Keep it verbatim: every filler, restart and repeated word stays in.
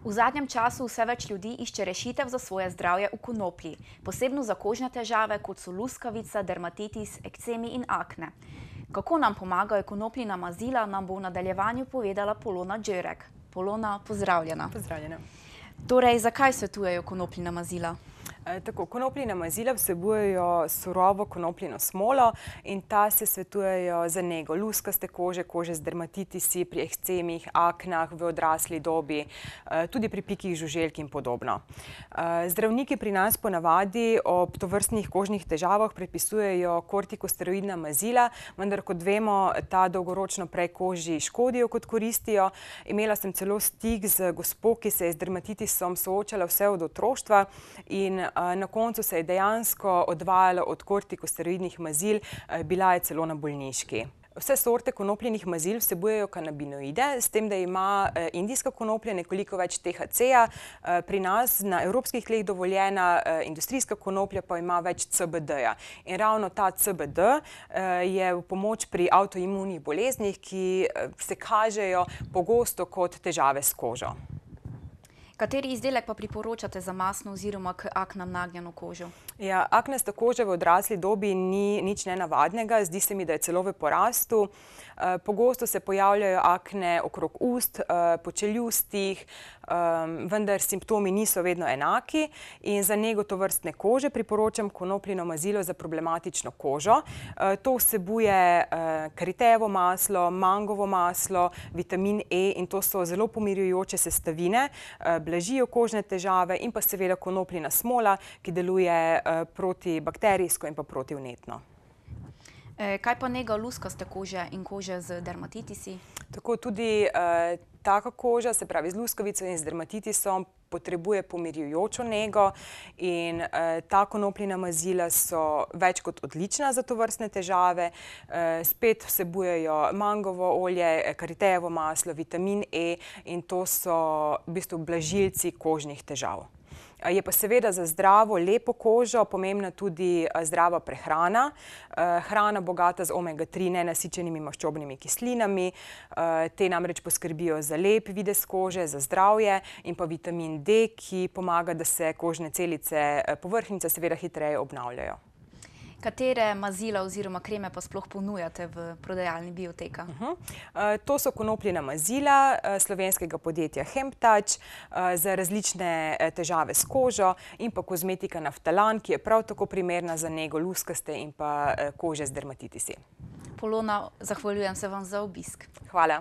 V zadnjem času vse več ljudi išče rešitev za svoje zdravje v konoplji, posebno za kožne težave, kot so luskavica, dermatitis, ekcemi in akne. Kako nam pomagajo konopljina mazila, nam bo v nadaljevanju povedala Polona Đerek. Polona, pozdravljena. Pozdravljena. Torej, zakaj svetujejo konopljina mazila? Tako, konopljina mazila vsebujejo surovo konopljino smolo in ta se svetujejo za nego luskaste kože, kože z dermatitisi, pri ekcemih, aknah v odrasli dobi, tudi pri pikih žuželk in podobno. Zdravniki pri nas ponavadi ob tovrstnih kožnih težavah predpisujejo kortikosteroidna mazila, vendar kot vemo, ta dolgoročno prej koži škodijo kot koristijo. Imela sem celo stik z gospo, ki se je z dermatitisom soočala vse od otroštva in na koncu se je dejansko odvajala od kortikosteroidnih mazil, bila je celo na bolniški. Vse sorte konopljinih mazil vsebujejo kanabinoide, s tem, da ima indijska konoplja nekoliko več te ha ce-ja. Pri nas na evropskih tleh dovoljena industrijska konoplja pa ima več ce be de-ja. In ravno ta ce be de je v pomoč pri avtoimunih boleznih, ki se kažejo pogosto kot težave s kožo. Kateri izdelek pa priporočate za mastno oziroma k aknam nagnjeno kožo? Ja, aknasta koža v odrasli dobi ni nič nenavadnega, zdi se mi, da je celo v porastu. Pogosto se pojavljajo akne okrog ust, po čeljustih, vendar simptomi niso vedno enaki in za nego tovrstne kože priporočam konopljino mazilo za problematično kožo. To vsebuje karitejevo maslo, mangovo maslo, vitamin E in to so zelo pomirjujoče sestavine, blažijo kožne težave in pa seveda konopljina smola, ki deluje protibakterijsko in pa protivnetno. Kaj pa nega luskaste kože in kože z dermatitisi? Tako tudi taka koža, se pravi z luskavico in z dermatitisom, potrebuje pomirjujočo nego in ta konopljina mazila so več kot odlična za tovrstne težave. Spet vsebujejo mangovo olje, karitejevo maslo, vitamin E in to so v bistvu blažilci kožnih težav. Je pa seveda za zdravo, lepo kožo pomembna tudi zdrava prehrana. Hrana bogata z omega tri nenasičenimi maščobnimi kislinami. Te namreč poskrbijo za lep videz kože, za zdravje in pa vitamin D, ki pomaga, da se kožne celice povrhnjice seveda hitreje obnavljajo. Katere mazila oziroma kreme pa sploh ponujate v prodajalni Bioteka? To so konopljina mazila slovenskega podjetja Hemptouch za različne težave s kožo in pa kozmetika Naftalan, ki je prav tako primerna za nego luskaste in pa kože z dermatitisi. Polona, zahvaljujem se vam za obisk. Hvala.